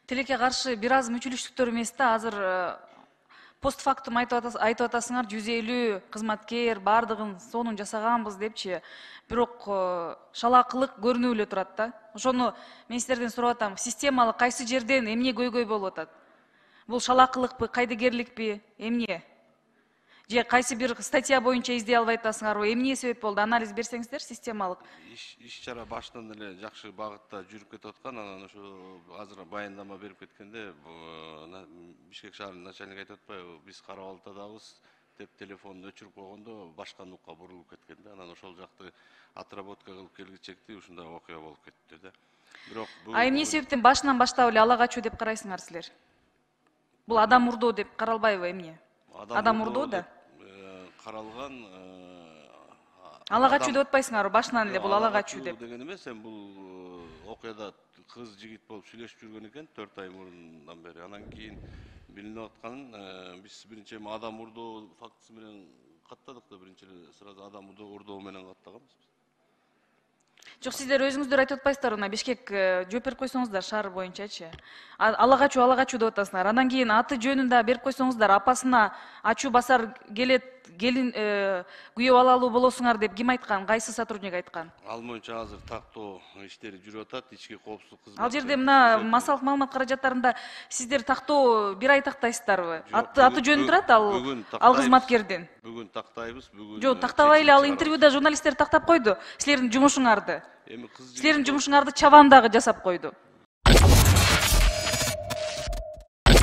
Тилекке каршы бир аз мүчүлүштүктөр эмес да, азыр постфактум айтып атасыңар 150 кызматкер бардыгын сонун жасаганбыз депчи. Бирок шалаакылык көрүнүп эле турат да. Ошону мен сиздерден сурап атам, системалык кайсы жерден эмне көйгөй болуп атат? Бул шалаакылыкпы, кайдыгерликпи, эмне? Же кайсы бир статья боюнча издей албай атасыңарбы? Эмне себеп болду? Анализ берсеңиздер системалык. Иш-чара башынан эле жакшы багытта жүрүп кетип аткан. Анан ошо азыр баяндама берип кеткенде Бишкек шаарынын начальниги айтып атпайбы, биз карап атабыз деп телефонун өчүрүп койгондо башка нукка бурулуп кеткен да. Анан ошол жакты отработка кылып келгичекти ушундай окуя болуп кетти да. Бирок эмне себептен башынан баштап эле ала качуу деп карайсыңар силер? Бул адам урдоо деп каралбайбы эмне? Адам урдоо да. Каралган ала качуу деп атпайсыңарбы? Башынан эле бул ала качуу деп. Деген эмес, бул окуяда кыз жигит болуп сүйлөшүп жүргөн экен 4 ай мурундан бери. Анан кийин билинип атканын биз биринчи адам урдоо фактысы менен каттадык да, биринчи сразу адам урдоо менен каттаганбыз. Жок, сиздер өзүңүздөр айтып атпайсыздарбы, мына Бишкек жооп берип койсоңуздар шаар боюнчачы. Ала качуу деп атасыңар. Андан кийин аты жөнүн да берип койсоңуздар, апасына ачуу басар келет, келин күйөө алалуу болосуңар деп ким айткан? Кайсы сотрудник айткан? Ал боюнча азыр тактоо иштери жүрүп атат, ички коопсуздук кызматы. Ал жерде мына массалык маалымат каражаттарында сиздер тактоо бир ай тактайсыздарбы? Аты жөнү турат ал кызматкердин. Бүгүн тактайбыз, бүгүн. Жок, тактабай эле, ал интервьюда журналисттер тактап койду силердин жумушуңарды. Силердин жумушуңарды чабан дагы жасап койду.